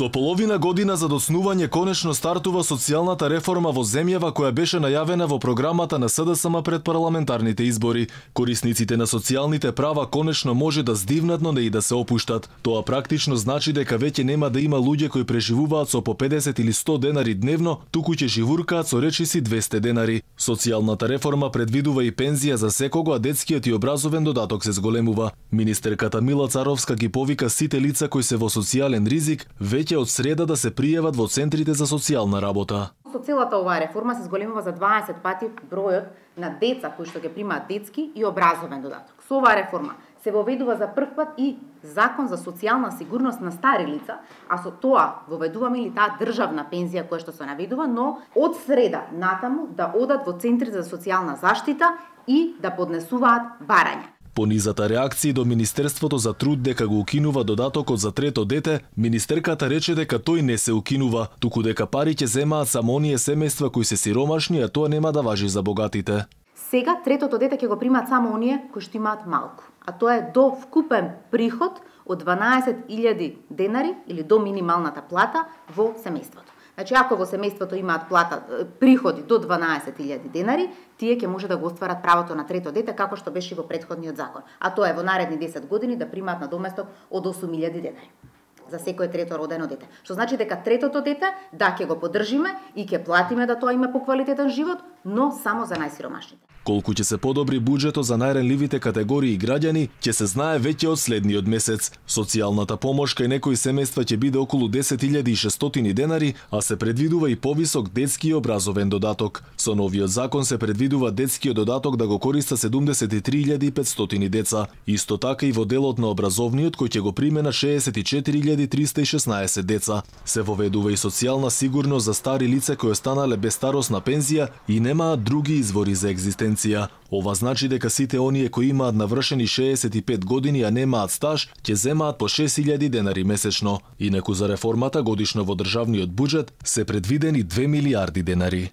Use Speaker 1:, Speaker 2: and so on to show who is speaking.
Speaker 1: Со половина година за доцнување конечно стартува социјалната реформа во земјава која беше најавена во програмата на СДСМ пред парламентарните избори. Корисниците на социјалните права конечно може да здивнат, но не и да се опуштат. Тоа практично значи дека веќе нема да има луѓе кои преживуваат со по 50 или 100 денари дневно, туку ќе живуркаат со речиси 200 денари. Социјалната реформа предвидува и пензија за секого, а детскиот и образовен додаток се зголемува. Министерката Мила Царовска ги повика сите лица кои се во социјален ризик веќе од среда да се пријават во центрите за социјална работа.
Speaker 2: Со целата оваа реформа се зголемува за 20 пати бројот на деца кои што ќе примаат детски и образовен додаток. Со оваа реформа се воведува за прв пат и закон за социјална сигурност на стари лица, а со тоа воведуваме и таа државна пензија која што се наведува, но од среда натаму да одат во центрите за социјална заштита и да поднесуваат барања.
Speaker 1: По низата реакции до Министерството за труд дека го укинува додатокот за трето дете, министерката рече дека тој не се укинува, туку дека пари ќе земаат само оние семејства кои се сиромашни, а тоа нема да важи за богатите.
Speaker 2: Сега третото дете ќе го примаат само оние кои што имаат малку, а тоа е до вкупен приход од 12.000 денари или до минималната плата во семејството. Значи, ако во семејството имаат приходи до 12.000 денари, тие ќе може да го остварат правото на трето дете, како што беше во претходниот закон. А тоа е во наредни 10 години да примаат надоместок од 8.000 денари за секое трето родено дете. Што значи дека третото дете, да, ќе го поддржиме и ќе платиме да тоа има поквалитетен живот, но само за најсиромашните.
Speaker 1: Колку ќе се подобри буџетот за најренливите категории граѓани, ќе се знае веќе од следниот месец. Социјалната помош кај некои семејства ќе биде околу 10.600 денари, а се предвидува и повисок детски и образовен додаток. Со новиот закон се предвидува детскиот додаток да го користа 73.500 деца. Исто така и во делот на образовниот кој ќе го приме на 64.316 деца. Се воведува и социјална сигурност за стари лица кои останале без старосна пензија и немаат други извори за екзистенција. Ова значи дека сите оние кои имаат навршени 65 години, а немаат стаж, ќе земаат по 6.000 денари месечно. Инаку за реформата годишно во државниот буџет се предвидени 2 милиарди денари.